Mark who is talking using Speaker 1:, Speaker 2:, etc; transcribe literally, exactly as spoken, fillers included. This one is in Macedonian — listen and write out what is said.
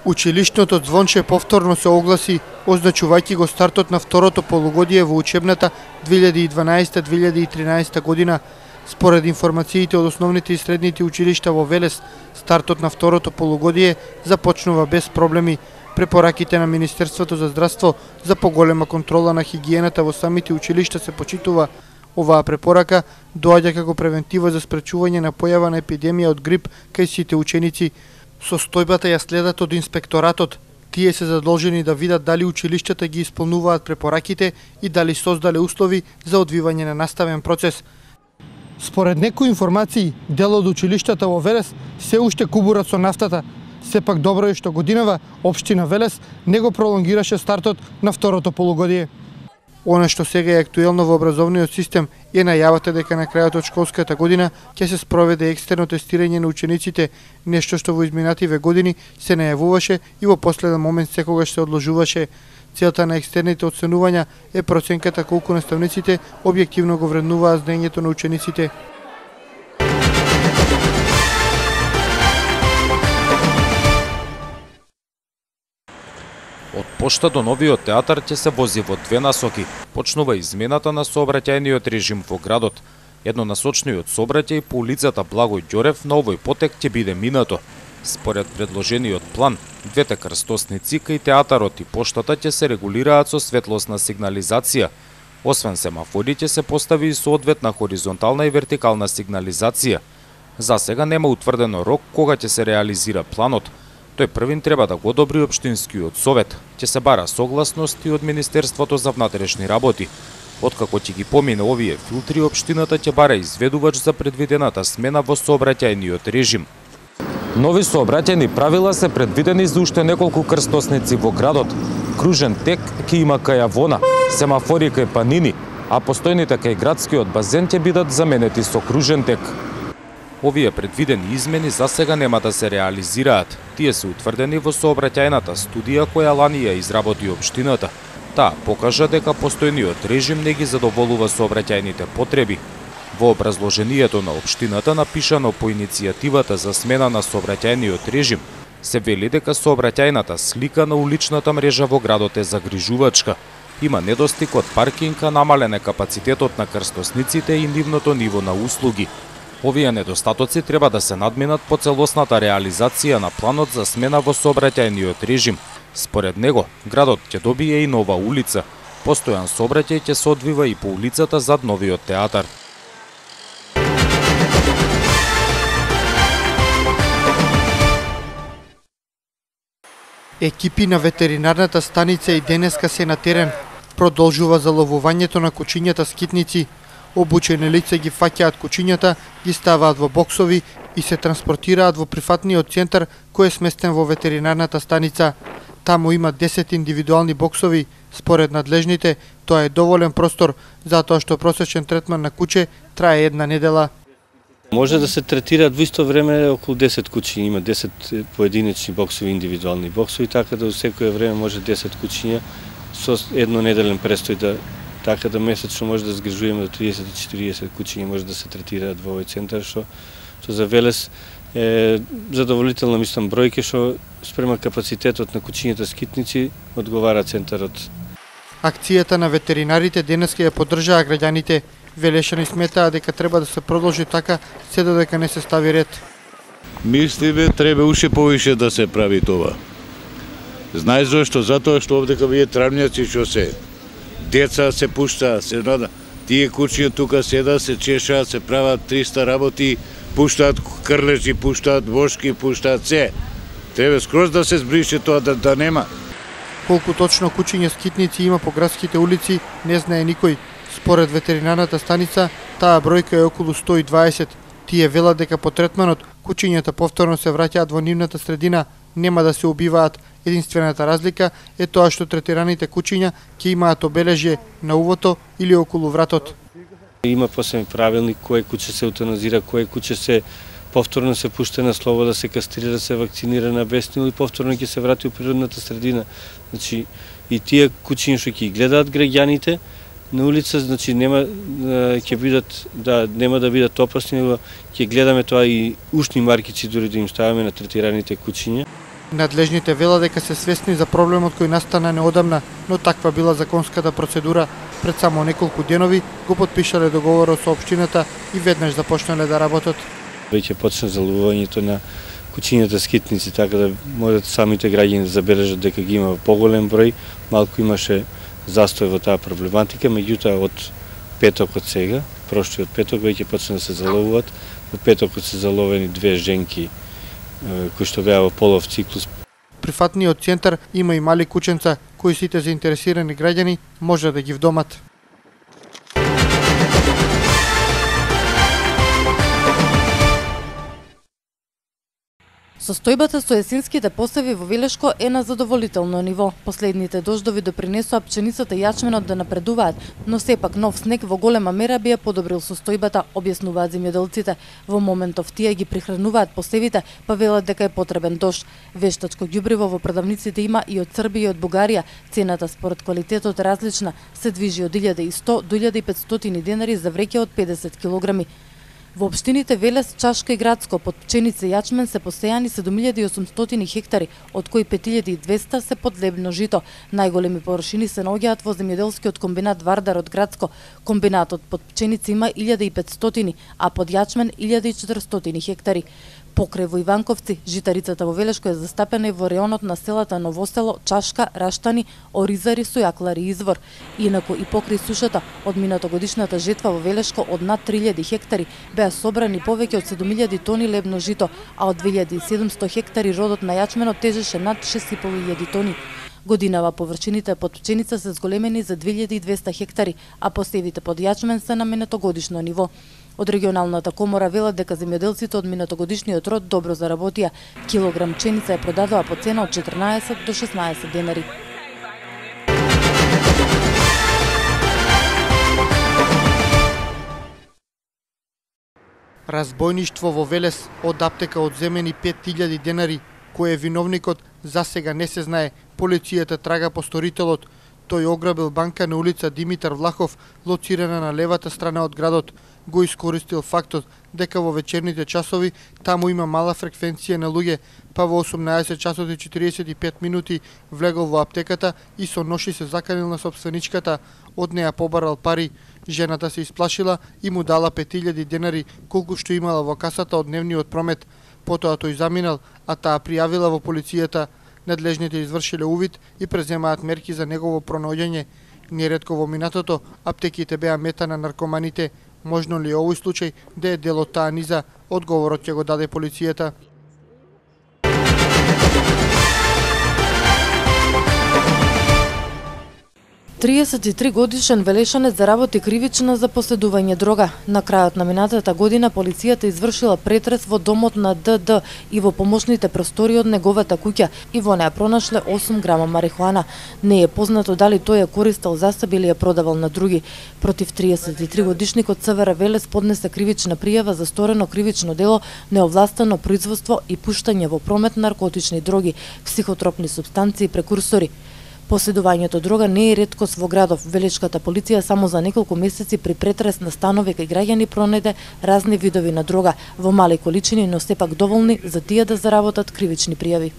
Speaker 1: Училишното звонче повторно се огласи, означувајќи го стартот на второто полугодие во учебната две илјади и дванаесета две илјади и тринаесета година. Според информациите од основните и средните училишта во Велес, стартот на второто полугодие започнува без проблеми. Препораките на Министерството за здравство за поголема контрола на хигиената во самите училишта се почитува. Оваа препорака доаѓа како превентива за спречување на појава на епидемија од грип кај сите ученици. Состојбата ја следат од инспекторатот. Тие се задолжени да видат дали училиштата ги исполнуваат препораките и дали создале услови за одвивање на наставен процес. Според некои информации, дел од училиштата во Велес се уште кубурат со нафтата. Сепак добро е што годинава општина Велес не го пролонгираше стартот на второто полугодие. Она што сега е актуелно во образовниот систем е најавата дека на крајот од школската година ќе се спроведе екстерно тестирање на учениците, нешто што во изминативе години се најавуваше и во последен момент секогаш се одложуваше. Целта на екстерните оценувања е проценката колку наставниците објективно го вреднуваат знаењето на учениците.
Speaker 2: Од пошта до новиот театар ќе се вози во две насоки. Почнува измената на сообраќајниот режим во градот. Еднонасочниот сообраќај по улицата Благој Ѓорев на овој потек ќе биде минато. Според предложениот план, двете крстосници кај театарот и поштата ќе се регулираат со светлосна сигнализација. Освен семафори ќе се постави и соодветна хоризонтална и вертикална сигнализација. За сега нема утврдено рок кога ќе се реализира планот. Тој првин треба да го одобри општинскиот совет. Ќе се бара согласност и од Министерството за внатрешни работи. Откако ќе ги помине овие филтри, општината ќе бара изведувач за предвидената смена во сообраќајниот режим. Нови сообраќајни правила се предвидени за уште неколку крстосници во градот. Кружен тек ќе има кај Авона, семафори кај Панини, а постојните кај градскиот базен ќе бидат заменети со кружен тек. Овие предвидени измени за сега нема да се реализираат. Тие се утврдени во сообраќајната студија која лани ја изработи општината. Таа покажа дека постојниот режим не ги задоволува сообраќајните потреби. Во образложението на општината, напишано по иницијативата за смена на сообраќајниот режим, се вели дека сообраќајната слика на уличната мрежа во градот е загрижувачка. Има недостиг од паркинг, а намален е капацитетот на крстосниците и нивното ниво на услуги. Овие недостатоци треба да се надминат по целосната реализација на планот за смена во сообраќајниот режим. Според него, градот ќе добие и нова улица. Постојан сообраќај ќе се одвива и по улицата зад новиот театар.
Speaker 1: Екипи на ветеринарната станица и денеска се на терен. Продолжува заловувањето на кучињата скитници. Обучени лица ги фаќаат кучињата, ги ставаат во боксови и се транспортираат во прифатниот центар кој е сместен во ветеринарната станица. Таму има десет индивидуални боксови. Според надлежните, тоа е доволен простор, затоа што просечен третман на куче трае една недела.
Speaker 3: Може да се третираат во исто време околу десет кучиња, има десет поединечни боксови, индивидуални боксови, така да во секое време може десет кучиња со еднонеделен престој да така да месечно може да згрижуваме до триесет до четириесет кучиња може да се третираат во овој центар, што што за Велес е задоволителна, мислам, бројке, што спрема капацитетот на кучињата скитници одговара центарот.
Speaker 1: Акцијата на ветеринарите денеска ја поддржаа граѓаните. Велешани сметаа дека треба да се продолжи така се додека не се стави ред.
Speaker 4: Мислиме треба уште повише да се прави тоа. Знаеш зошто? Затоа што овдека вие травњаци што се деца се пуштаат, се нада. Тие кучиња тука седат, се чешаат, се прават триста работи, пуштаат крлежи, пуштаат вошки, пуштаат се. Треба скроз да се збрише тоа, да, да нема.
Speaker 1: Колку точно кучиња скитници има по градските улици, не знае никој. Според ветеринарната станица, таа бројка е околу сто и дваесет. Тие велат дека по третманот кучињата повторно се враќаат во нивната средина, нема да се убиваат. Единствената разлика е тоа што третираните кучиња ќе имаат обележје на увото или околу вратот.
Speaker 3: Има посебен правилник кој куче се еутаназира, кој куче се повторно се пушта на слобода, се кастрира, се вакцинира на бесни и повторно ќе се врати у природната средина. Значи и тие кучиња што ќе гледаат граѓаните на улица, значи нема ќе бидат да нема да бидат опасни, ќе гледаме тоа и ушни маркици дури да им ставаме на третираните кучиња.
Speaker 1: Надлежните велат дека се свесни за проблемот кој настана неодамна, но таква била законската процедура. Пред само неколку денови го потпишале договорот со општината и веднаш започнале да работат.
Speaker 3: Веќе почна заловувањето на кучињата скитници, така да можат самите граѓани да забележат дека ги има поголем број. Малку имаше застој во таа проблематика, меѓутоа од петокот сега, прошлиот петок веќе почна да се заловуваат. Во петокот се заловени две женки кои што беа во полов циклус.
Speaker 1: Прифатниот центар има и мали кученца кои сите заинтересирани граѓани може да ги вдомат.
Speaker 5: Состојбата со есенските посеви во Велешко е на задоволително ниво. Последните дождови допринесоа пченицата и јачменот да напредуваат, но сепак нов снег во голема мера би ја подобрил состојбата, објаснуваат земјоделците. Во моментов тие ги прихрануваат посевите, па велат дека е потребен дожд. Вештачко ѓубриво во продавниците има и од Србија и од Бугарија. Цената според квалитетот е различна, се движи од илјада и сто до илјада и петстотини денари за вреќе од педесет килограми. Во општините Велес, Чашка и Градско под пченица и јачмен се посејани седум илјади и осумстотини хектари, од кои пет илјади и двесте се подлебно жито. Најголеми површини се наоѓаат во земјоделскиот комбинат Вардар од Градско. Комбинатот под пченица има илјада и петстотини, а под јачмен илјада и четиристотини хектари. Покрај во Иванковци, житарицата во Велешко е застапена и во реонот на селата Новосело, Чашка, Раштани, Оризари, Сојаклари и Извор. Инаку и покрај сушата, од минатогодишната жетва во Велешко од над три илјади хектари беа собрани повеќе од седум илјади тони лебно жито, а од две илјади и седумсто хектари родот на јачменот тежеше над шест и пол илјади тони. Годинава површините под пченица се зголемени за две илјади и двесте хектари, а посевите под јачмен се на минатогодишно ниво. Од регионалната комора велат дека земјоделците од минатогодишниот род добро заработија. Килограм пченица ја продадоа по цена од четрнаесет до шеснаесет денари.
Speaker 1: Разбојништво во Велес, од аптека одземени пет илјади денари, кој е виновникот, засега не се знае. Полицијата трага по сторителот. Тој ограбил банка на улица Димитар Влахов, лоцирана на левата страна од градот. Го искористил фактот дека во вечерните часови таму има мала фреквенција на луѓе, па во осумнаесет часот и четиридесет и пет минути влегол во аптеката и со ноши се заканил на сопственичката. Од неа побарал пари. Жената се исплашила и му дала пет илјади денари, колку што имала во касата од дневниот промет. Потоа тој заминал, а таа пријавила во полицијата. Надлежните извршиле увид и преземаат мерки за негово пронаоѓање. Неретко во минатото аптеките беа мета на наркоманите. Можно ли овој случај да е дел од таа низа? Одговорот ќе го даде полицијата.
Speaker 5: триесет и три годишен велешанец заработи кривично за поседување дрога. На крајот на минатата година полицијата извршила претрес во домот на Д Д и во помошните простори од неговата куќа и во неа пронашле осум грама марихуана. Не е познато дали тој ја користел за себе или ја продавал на други. Против триесет и три годишникот ЦВР Велес поднесе кривична пријава за сторено кривично дело, неовластено производство и пуштање во промет наркотични дроги, психотропни супстанции и прекурсори. Поседувањето дрога не е реткост во градов. Велешката полиција само за неколку месеци при претрес на станови кај граѓани пронајде разни видови на дрога во мали количини, но сепак доволни за тие да заработат кривични пријави.